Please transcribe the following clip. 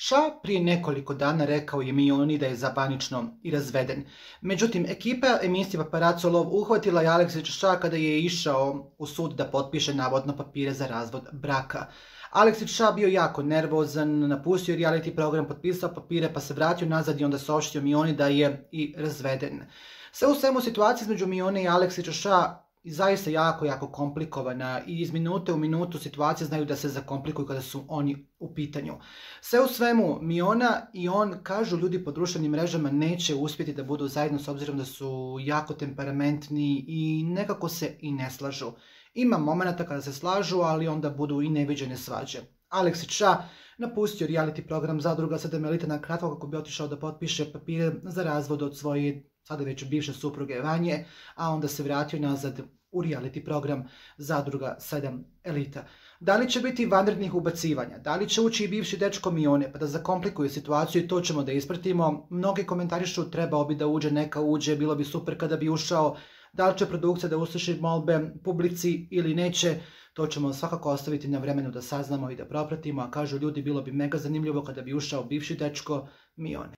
Ša prije nekoliko dana rekao je Mioni da je zabanično i razveden. Međutim, ekipa emisije Paparazzo Lov uhvatila je Aleksića Ša kada je išao u sud da potpiše navodno papire za razvod braka. Aleksić Ša bio jako nervozan, napustio je reality program, potpisao papire pa se vratio nazad i onda saopštio Mioni da je i razveden. Sve u svemu situacija između Mione i Aleksića Ša zaista jako komplikovana i iz minute u minutu situacije znaju da se zakomplikuju kada su oni u pitanju. Sve u svemu, Miona i on, kažu ljudi po društvenim mrežama, neće uspjeti da budu zajedno s obzirom da su jako temperamentni i nekako se i ne slažu. Ima momenata kada se slažu, ali onda budu i neviđene svađe. Aleksić Ša napustio reality program Zadruga 7 elita na kratko kako bi otišao da potpiše papire za razvod od svoje sada već bivše supruge Vanje, a onda se vratio nazad u reality program Zadruga 7 elita. Da li će biti vanrednih ubacivanja? Da li će ući i bivši dečko Mione pa da zakomplikuje situaciju i to ćemo da ispratimo? Mnogi komentarišu trebao bi da uđe, neka uđe, bilo bi super kada bi ušao. Da li će produkcija da usliši molbe publici ili neće? To ćemo svakako ostaviti na vremenu da saznamo i da propratimo, a kažu ljudi bilo bi mega zanimljivo kada bi ušao bivši dečko Mione.